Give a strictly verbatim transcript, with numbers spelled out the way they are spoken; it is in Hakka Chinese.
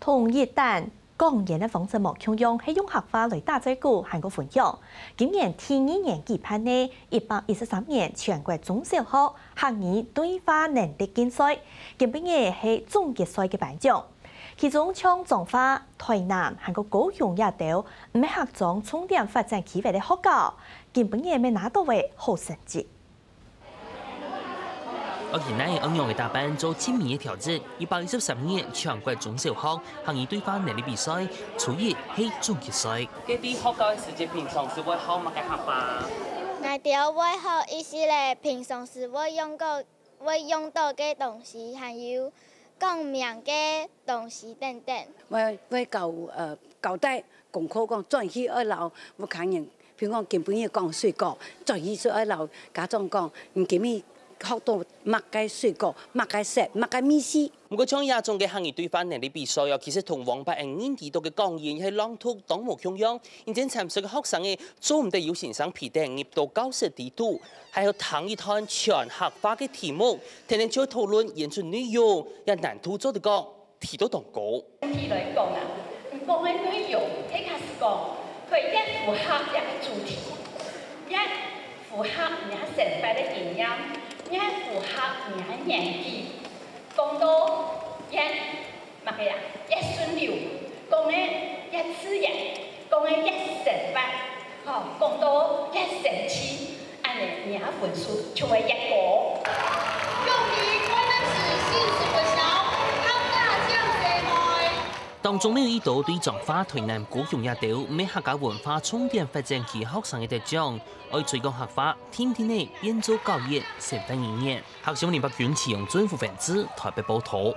同一旦講演个方式無共樣，係用客話來打嘴鼓還過分享。今年第二年舉辦个一百一十三年全國中小學客語對話能力競賽，今晡日係總決賽个頒獎。其中像彰化、臺南還過高雄這兜毋係客庄重點發展區域个學校，今晡日乜拿到个好成績。 愛佢等愛仰仔打扮做盡美个條子，一百一十三年全國中小學客語對話能力比賽，初一係總決賽。該在學校个時節，平常時會學麼个客話？𠊎兜會學一息仔平常時會用到、會用到个東西，還有講名个東西等等。會、會教、呃、交代功課講轉去愛摎屋下人 譬如講今晡日講水果，轉去就愛摎家長講，你今日學到麼个水果、麼个色、麼个味緒。毋過像這種个客語對話能力比賽哦，其實同往擺人認知到个講演係朗讀當無共樣。因為參賽个學生仔做毋得有先生陪等入到教室裡肚，還愛聽一段全客話个題目，天天就討論演出內容，這難度做得講 提到當高。整體來講啊，你講个內容，係假使講，佢越符合這个主題，越符合你个生活个經驗，越符合你个年紀，講到越麼个啊，越順溜，講个越自然，講个越生活，吼，講到越生趣， 恁仔你个分數就會越高。恭喜臺南市新竹國小客家獎細妹！當中乜有一兜對彰化、臺南、高雄這兜毋係客家文化重點發展區學生仔得獎，愛推廣客話，定定仔變做教育、生活語言。客家新聞林伯君、徐永尊、傅凡志，臺北報導。